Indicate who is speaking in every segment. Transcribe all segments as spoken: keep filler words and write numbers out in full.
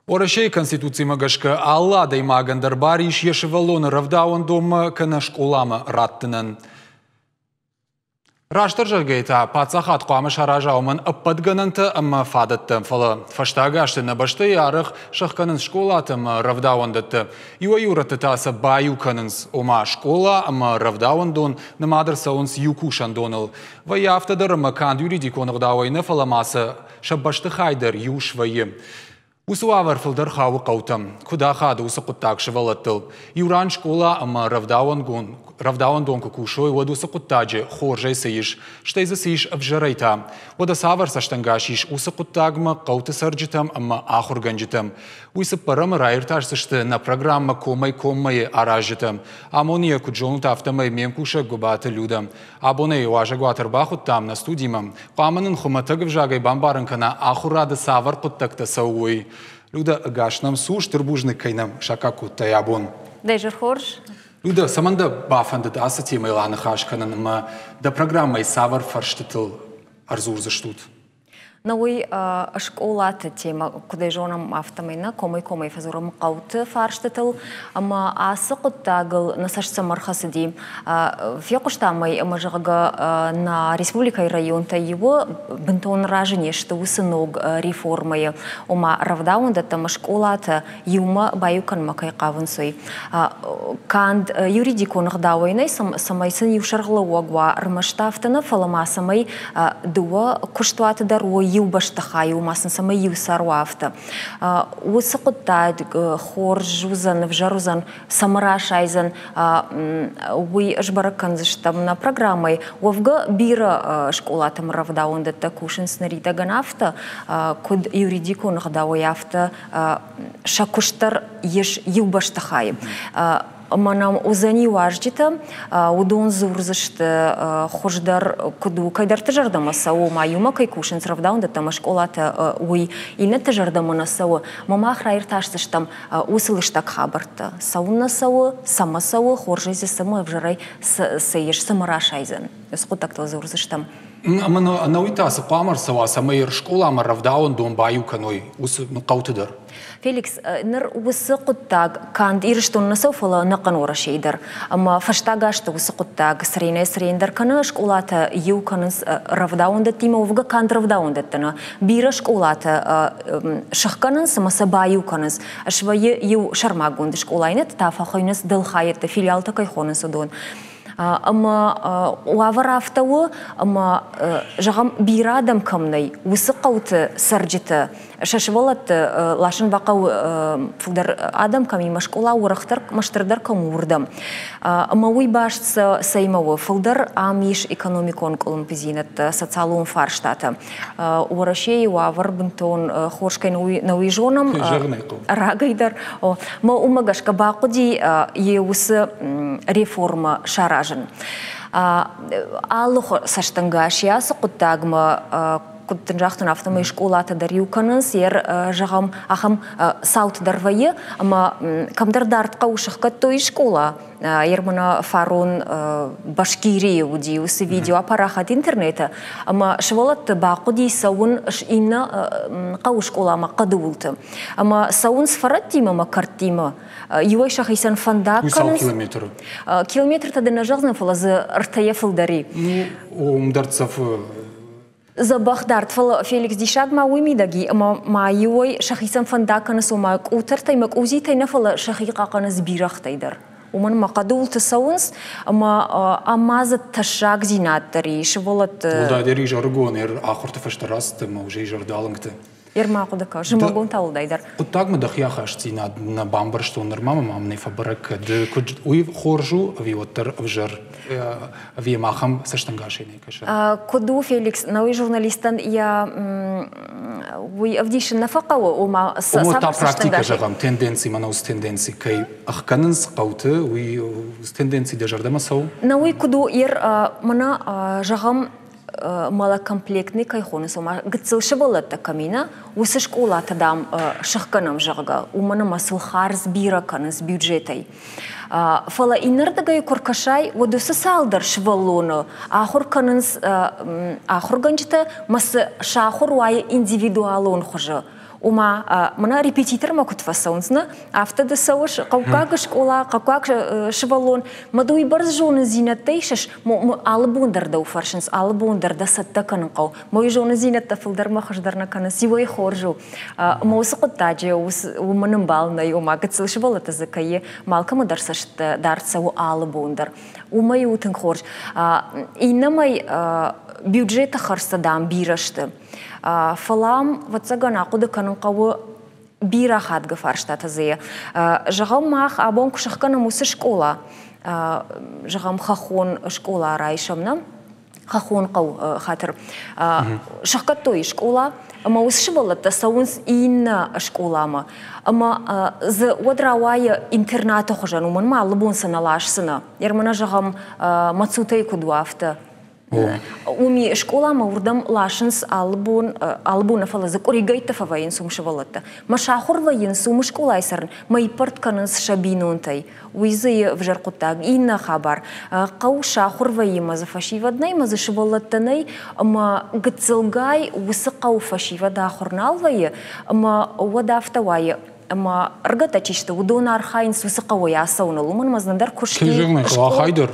Speaker 1: Уӕрӕсейы Конституцимӕ гӕсгӕ алы адӕймагӕн дӕр бар ис йӕ сывӕллоны рӕвдауӕндонмӕ кӕнӕ скъоламӕ раттынӕн. Растдӕр зӕгъгӕйӕ та, паддзахад хъуамӕ сараза уымӕн ӕппӕт гӕнӕнтӕ ӕмӕ фадӕттӕ, фӕлӕ фӕстаг азты нӕ бӕстӕйы арӕх сӕхгӕнынц скъолатӕ ӕмӕ рӕвдауӕндӕттӕ. Иуӕй-иу рӕтты та сӕ баиу кӕнынц, ома скъола ӕмӕ рӕвдауӕндон нымад ӕрцӕуынц иу кусӕндоныл. Вӕййы афтӕ дӕр ӕмӕ канд юридикон ӕгъдауӕй нӕ, фӕлӕ ма сӕ сӕ бӕстыхай дӕр иу свӕййы. Уыцы уавӕр фылдӕр хауы хъӕутӕм. Куыд ахады уыцы хъуыддаг сывӕллӕттыл? Иу ран скъола ӕмӕ рӕвдауӕндон куы кусой, уӕд уыцы хъуыддаджы хорзӕй цы ис, стӕй дзы цы ис ӕвзӕрӕй та? Уӕдӕ цавӕр цӕстӕнгас ис уыцы хъуыддагмӕ хъӕуты цӕрджытӕм ӕмӕ ахуыргӕнджытӕм? Уый цыппӕрӕмы раиртасдзысты нӕ программӕ «Комӕй-коммӕ-йы аразджытӕ. Амоны йӕ, куыд зонут, афтӕмӕй ме мкусӕг Гуыбаты Людӕ. Абон ӕй уазӕгуаты ӕрбахуыдтам нӕ студимӕ. Хъуамӕ нын хуымӕтӕг ӕвзагӕй бамбарын кӕна, ахуырады цавӕр хъуыддӕгтӕ цӕуы, уый. Людӕ, ӕгас нӕм цу, стыр бузныг, кӕй нӕм саккаг кодтай абон.
Speaker 2: Дӕ изӕр хорз.
Speaker 1: Людӕ, цӕмӕн дӕ бафӕндыд ацы темӕйыл аныхас кӕнын ӕмӕ дӕ программӕйы цавӕр фӕрстытыл ӕрдзурдзыстут?
Speaker 2: На уый скъолаты темӕ, куыдӕй зонӕм, афтӕмӕй нӕ комӕй-комӕй фӕдзурӕм хъӕуты фарстытыл, ӕмӕ ацы хъуыддагыл нӕ цӕст цӕмӕ ӕрхӕцыди. Фехъуыстам ӕй, ӕмӕ зӕгъгӕ, нӕ республикӕйы районтӕй иуы бынтон разы не сты уыцы ног реформӕйы, ома рӕвдауӕндӕттӕ ӕмӕ скъолатӕ иумӕ баиу кӕнынмӕ кӕй хъавынц, уый. Канд юридикон ӕгъдауӕй нӕй, цӕмӕй сын иу сӕргълӕууӕг уа, ӕрмӕст афтӕ нӕ, фӕлӕ ма цӕмӕй дыууӕ куыстуаты дӕр уой иу бӕстыхайы, ома сын цӕмӕй иу сӕр уа, афтӕ. Уыцы хъуыддаг хорз уыдзӕн, ӕвзӕр уыдзӕн, цӕмӕ расайдзӕн, уый сбӕрӕг кӕндзыстӕм нӕ программӕйы. Уӕвгӕ бирӕ скъолатӕм рӕвдауӕндӕттӕ кусынц ныридӕгӕн афтӕ, куыд юридикон ӕгъдауӕй, афтӕ сӕ куыст дӕр ис иу бӕстыхайы. Ӕмӕ нӕм уыдзӕни уазджытӕ, уыдон дзурдзысты хуыздӕр куыд у, кӕйдӕрты зӕрдӕмӕ цӕуы, ма иумӕ кӕй кусынц рӕвдауӕндӕттӕ ӕмӕ скъолатӕ, уый иннӕты зӕрдӕмӕ нӕ цӕуы. Мӕ мах раиртасдзыстӕм уыцы лыстӕг хабӕрттӕ. Цӕуын нӕ цӕуы, цӕмӕ цӕуы, хорзӕй дзы цӕмӕ, ӕвзӕрӕй цы ис, цӕмӕ расайдзӕн. Уыцы хъуыддӕгтыл дзурдзыстӕм.
Speaker 1: Ӕмӕ ӕнӕуый та цы хъуамӕ ӕрцӕуа, цӕмӕй скъоламӕ рӕвдауӕндон баиу кӕной уыцы хъӕуты дӕр?
Speaker 2: Феликс, ныр уыцы хъуыддаг канд Ирыстоны нӕ цӕуы, фӕлӕ ӕнӕхъӕн Уӕрӕсейы дӕр. Ӕмӕ фӕстаг азты уыцы хъуыддаг цыренӕй-цырендӕр кӕны, скъолатӕ иу кӕнынц рӕвдауӕндӕттимӕ, уӕвгӕ канд рӕвдауӕндӕттӕ нӕ. Бирӕ скъолатӕ сыхгӕнынц ӕмӕ сӕ баиу кӕнынц. Свӕййы иу сӕрмагонд скъола, иннӕтӕ та фӕхуыйнынц дӕлхайӕдтӕ, филиалтӕ кӕй хонынц, уыдон. Ӕмӕ уавӕр афтӕ у, ӕмӕ, зӕгъӕм, бирӕ адӕм кӕм нӕй, уыцы хъӕуты цӕрджытӕ сӕ сывӕллӕтты ласын бахъӕуы фылдӕр адӕм кӕм и, скъола уӕрӕхдӕр, мастырдӕр кӕм у, уырдӕм. Ӕмӕ уый баст цӕимӕ у? Фылдӕр ам ис экономикон къуылымпыдзинӕдтӕ, социалон фарстатӕ. Уӕрӕсейы уавӕр бынтон хорз кӕй нӕ уый зонӕм рагӕй дӕр. Мӕ уымӕ гӕсгӕ бахъуыди йе уыцы реформӕ саразын. Алы цӕстӕнгас йӕ ацы хъуыддагмӕ, куыд дын загътон, афтӕмӕй скъолатӕ дӕр иу кӕнынц, йӕ зӕгъӕм, ахӕм цауты дӕр вӕййы, ӕмӕ кӕмдӕр дард хъӕуы сыхгӕдтой скъола. Ермана фарон Башкирийы уыди уыцы видео апарахат интернеты, ӕмӕ сывӕллӕтты бахъуыди цӕуын иннӕ хъӕуы скъоламӕ хъӕды уылты. Ӕмӕ цӕуынц фӕрӕттимӕ ӕмӕ кӕрттимӕ. Иуӕй сӕхицӕн фӕндаг кӕнынц.
Speaker 1: Километры?
Speaker 2: Километртӕ дын нӕ зӕгъдзынӕн, фӕлӕ дзы ӕртӕйӕ фылдӕр и.
Speaker 1: Ну, уым дӕрддзӕф
Speaker 2: дзӕбӕх дард, фӕлӕ Феликс диссаг ма уый мидӕг и, ӕмӕ ма иуӕй сӕхицӕн фӕндаг кӕнынц, ома къутӕртӕй ӕмӕ къудзитӕй нӕ, фӕлӕ сӕхи хъахъхъӕнынц бирӕгътӕй дӕр. Уымӕн ӕмӕ хъӕдулты цӕуынц, ӕмӕ ӕмӕ дзы тӕссагдзинад дӕр и, сывӕллӕтты.
Speaker 1: Уӕлдайдӕр изӕрыгон ахуырты фӕстӕ рацыд ӕмӕ уже изӕрдалынгты.
Speaker 2: Ерма хъуыды кӕн, зымӕгон та уӕлдайдӕр.
Speaker 1: Хъуыддагмӕ дӕхи ахастдзинад нӕ бамбӕрстон нырма мӕ мӕм нӕ фӕбӕрӕг кӕд, куыд уый хорз у ӕви уӕддӕр ӕвзӕр, ӕви йӕм ахӕм цӕстӕнгасӕй нӕ кӕсы?
Speaker 2: Куыд у, Феликс, науи журналистӕн йӕ уый ӕвдисын нӕ фӕхъӕуы, ома
Speaker 1: Ома та практикӕ, зӕгъӕм, тенденци, мӕнӕ уыцы тенденци кӕй ӕхгӕнынц хъӕуты, уый тенденци дӕ зӕрдӕмӕ цӕуы?
Speaker 2: На уый куыд у, ер мӕнӕ, зӕгъӕм, малокомплектный кӕй хонынц, ома гыццыл сывӕллӕттӕ кӕм и, нӕ, уыцы скъолатӕ, дам, сыхгӕнӕм, зӕгъгӕ, уымӕн ӕмӕ сыл хардз бирӕ кӕнынц бюджетӕй. Фӕлӕ иннӕрдыгӕй куы ркӕсай, уӕд уыцы цалдӕр сывӕллоны ахуыр кӕнынц ахуыргӕнджытӕ, мӕ цы сахуыр уайы индивидуалон хуызы. Ома, мӕнӕ репетитормӕ куыд фӕцӕуынц, нӕ, афтӕ ды цӕуыс хъӕуккаг скъола, хъӕуккаг сывӕллон, мӕ ды уыйбӕрц зонындзинӕдтӕ исыс, алы бон дӕр дӕу фӕрсынц, алы бон дӕр дӕ цӕттӕ кӕнын хъӕуы. Мӕ уый зонындзинӕдтӕ фылдӕрмӕ хуыздӕр нӕ кӕнынц, иуӕй хорз у. Мӕ уыцы хъуыддаджы уымӕн ӕмбал нӕй, ома гыццыл сывӕллӕттӕ дзы кӕй малкӕмӕ дӕр цӕст дард цӕуы алы бон дӕр. Уымӕй у тынг хорз. Иннӕмӕй бюджеты хӕрдзтӕ, дам, бирӕ сты. Фӕлӕ ам, ӕвӕццӕгӕн, ахъуыды кӕнын хъӕуы бирӕ хатгӕ фарстатӕ дзы. Зӕгъӕм, мах абон куы сӕхгӕнӕм уыцы скъола, зӕгъӕм, хӕххон скъола райсӕм, нӕ? Хӕххон хъӕу хатыр. Сӕхгӕдтой скъола, ӕмӕ уыцы сывӕллӕттӕ цӕуынц иннӕ скъоламӕ. Ӕмӕ дзы уӕд рауайы интернаты хуызӕн, уымӕн ма алы бон сӕ нӕ ласдзынӕ. Ермӕнӕ, зӕгъӕм, Мацутӕй куыд у, афтӕ. Уым скъоламӕ уырдӕм ласынц алы бон, алы бон нӕ, фӕлӕ дзы къуыригӕйттӕ фӕвӕййынц уым сывӕллӕттӕ. Мӕ сахуыр вӕййынц уым скъолайы цӕрын, мӕ иппӕрд кӕнынц сӕ бинонтӕй. Уый дзы ӕвзӕр хъуыддаг. Иннӕ хабар, хъӕу сахуыр вӕййы, мӕ дзы фӕсивӕд нӕй, мӕ дзы сывӕллӕттӕ нӕй, ӕмӕ гыццылгай уыцы хъӕу фӕсивӕд ахуыр нал вӕййы, ӕмӕ уӕд афтӕ уайы, ӕмӕ ӕрыгӕттӕ чи сты, уыдон архайынц уыцы хъӕуӕй ацӕуыныл. Уымӕн ӕмӕ дзы нӕдӕр куыст
Speaker 1: и, дӕр.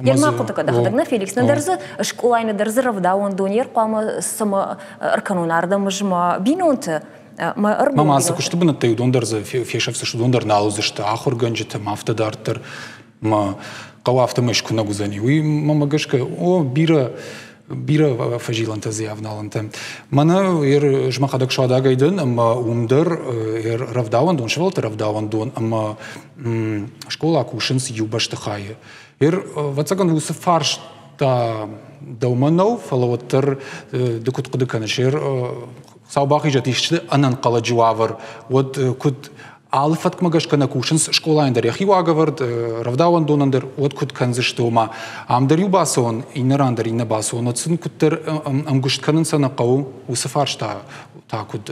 Speaker 2: Йӕ хъуыды кӕд ӕхӕдӕг нӕ Феликс, нӕдӕр дзы скъолайы, нӕдӕр дзы рӕвдауӕндон йе хъуамӕ цӕмӕ ӕркӕнон ардӕм ӕз мӕ бинонты, мӕ ӕргом.
Speaker 1: Мӕ цы куысты бынӕттӕй уыдон дӕр дзы фесӕфдзысты, уыдон дӕр нал уыдзысты ахуыргӕнджытӕ, ма афтӕ дарддӕр мӕ хъӕу афтӕмӕй скуынӕг уыдзӕни. Уый мӕ гӕсгӕ, о, бирӕ бирӕ фӕзилӕнтӕ дзы ӕвналӕнтӕ. Мӕнӕ ер ӕз мӕхӕдӕг Суадагӕй дӕн, ӕмӕ уым дӕр ер рӕвдауӕндон, сывӕллӕтты рӕвдауӕндон ӕмӕ скъола кусынц иу бӕстыхайы. Ер, ӕвӕццӕгӕн, уыцы фарста дӕумӕ нӕу, фӕлӕ уӕддӕр ды куыд хъуыды кӕныс, ер Хуыцау бахизӕд исты ӕнӕнхъӕлӕджы уавӕр, уӕд куыд алы фӕткмӕ гӕсгӕ нӕ кусынц скъолайӕн дӕр йӕхи уагӕвӕрд, рӕвдауӕндонӕн дӕр, уӕд куыд кӕндзысты, ома ам дӕр иу бацӕуон, иннӕ ран дӕр иннӕ бацӕуон, уӕд сын куыддӕр ӕмгуыст кӕнын сӕ нӕ хъӕуы, уыцы фарста та куыд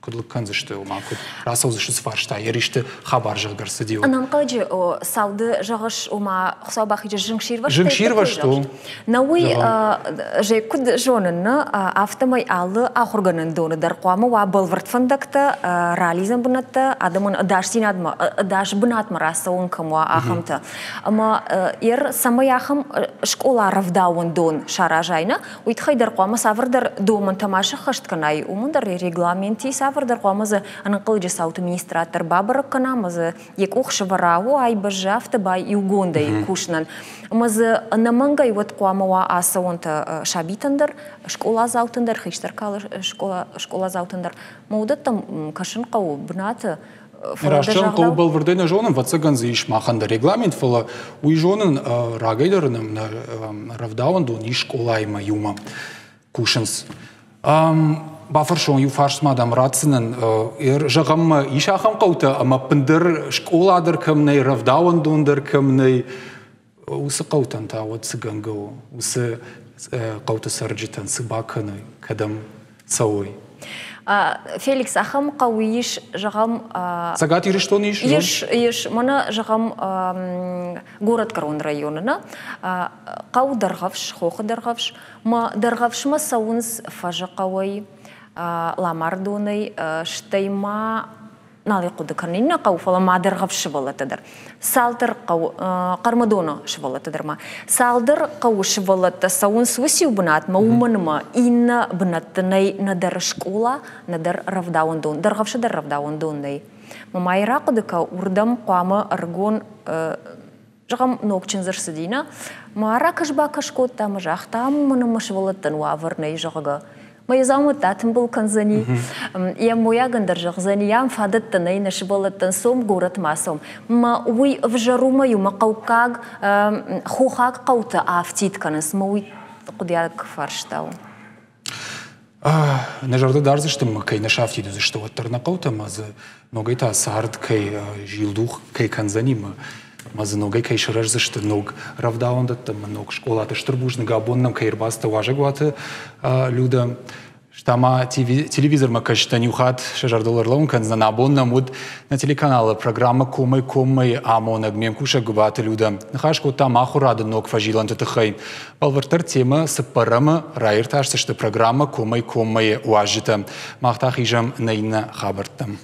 Speaker 1: куыд лыг кӕндзысты, ома куыд рацӕудзысты уыцы фарста, йӕ ристы хабар зӕгъгӕ ӕрцыди.
Speaker 2: Ӕнӕнхъӕлӕджы цауды зӕгъыс, ома Хуыцау бахизӕд зынгсирвӕзт.
Speaker 1: Зынгсирвӕзт у.
Speaker 2: Нӕ уый, же куыд зонын, нӕ, афтӕмӕй алы ахуыргӕнӕндоны дӕр хъуамӕ уа бӕлвырд фӕндӕгтӕ, ралидзӕн бынӕттӕ, адӕмӕн ӕдасдзинадмӕ, ӕдас бынатмӕ рацӕуын кӕм уа, ахӕмтӕ. Ӕмӕ ер цӕмӕй ахӕм скъола рӕвдауӕндон саразай, нӕ, уый тыххӕй дӕр хъуамӕ цавӕрдӕр домӕнтӕ ма сӕххӕст кӕнай, уымӕн дӕр регламенти цавӕрдӕр хъуамӕ дзы ӕнӕнхъӕлӕджы цауты министрад дӕр бабӕрӕг кӕна, ӕмӕ дзы йӕ къух сӕвӕра, о, ай бӕззы, афтӕ бай иугондӕй кусынӕн. Ӕмӕ дзы ӕнӕмӕнгӕй уӕд хъуамӕ уа ацӕуӕнтӕ сабитӕн дӕр, скъоладзаутӕн дӕр, хистӕр скъоладзаутӕн дӕр. Мӕ уыдӕттӕм кӕсын хъӕуы бынаты.
Speaker 1: Раст зӕгъын хъӕуы, бӕлвырдӕй нӕ зонын, ӕвӕццӕгӕн дзы ис махӕн дӕр регламент, фӕлӕ уый зонын, рагӕй дӕр нӕм нӕ рӕвдауӕндон ис скъолаимӕ иумӕ кусынц. Бафӕрсон, иу фарст ма дӕм ратдзынӕн. Зӕгъӕм, ис ахӕм хъӕутӕ, ӕмӕ ӕппындӕр скъола дӕр кӕм нӕй, рӕвдауӕндон дӕр кӕм нӕй, уыцы хъӕутӕн та уӕд цы гӕнгӕ у, уыцы хъӕуты цӕрджытӕн цы бакӕной, кӕдӕм цӕуой?
Speaker 2: Феликс, ахӕм хъӕуы ис, зӕгъӕм...
Speaker 1: Цӕгат Ирыстоны ис?
Speaker 2: Ис, ис. Мӕнӕ, зӕгъӕм, горӕтгӕрон районы, нӕ? Хъӕу Дӕргъӕвс, хохы Дӕргъӕвс. Мӕ Дӕргъӕвсмӕ цӕуынц Фӕзы хъӕуӕй, Ламардонӕй, стӕй ма нал хъуыды кӕнын иннӕ хъӕу, фӕлӕ ма Дӕргъӕвс сывӕллӕттӕ дӕр. Цалдӕр хъӕу, Хъӕрмӕдоны сывӕллӕттӕ дӕр ма. Цалдӕр хъӕуы сывӕллӕттӕ цӕуынц уыциу бынатмӕ, уымӕн ӕмӕ иннӕ бынӕтты нӕй нӕдӕр скъола, нӕдӕр рӕвдауӕндон. Дӕргъӕвсы дӕр рӕвдауӕндон нӕй. Мӕ ма йӕ рахъуыды кӕ, уырдӕм хъуамӕ ӕрыгон, зӕгъӕм, ног чындз ӕрцыди, нӕ? Ма ракӕс-бакӕс кодта, ӕмӕ загъта, ам мӕнӕ мӕ сывӕллӕттӕн уавӕр нӕй, зӕгъгӕ. Мӕ йӕ дзаумӕттӕ атымбыл кӕндзӕни, йӕ мойагӕн дӕр зӕгъдзӕни, ам фадӕттӕ нӕй нӕ сывӕллӕттӕн, цом горӕтмӕ цом. Мӕ уый ӕвзӕр у, мӕ-иу мӕ хъӕуккаг, хохаг хъӕутӕ афтид кӕнынц, мӕ уый хъуыдиаг фарста у.
Speaker 1: Нӕ зӕрдӕ дардзысты, мӕ кӕй нӕ сафтид уыдзысты, уӕддӕр нӕ хъӕутӕ, мӕ дзы ногӕй та цард кӕй зилдух кӕй кӕндзӕни, мӕ мӕ дзы ногӕй кӕй сырӕздзысты ног рӕвдауӕндӕттӕ ӕмӕ ног скъолаты. Стыр бузныг, абон нӕм кӕй ӕрбацыдтӕ уазӕгуаты, Люда. Стӕ телевизормӕ кӕсджытӕн иу хатт сӕ зӕрдыл ӕрлӕууын кӕндзӕн. Абон нӕм уыд нӕ телеканалы программӕ «Комӕй-коммӕ» амонӕг ме мкусӕг Гуыбаты Людӕ. Ныхас кодтам ахуырады ног фӕзилӕнты тыххӕй. Бӕлвырддӕр темӕ цыппӕрӕмы раиртасдзысты программӕ «Комӕй-коммӕ» уазджытӕ. Мах та хизӕм нӕ иннӕ хабӕрттӕм.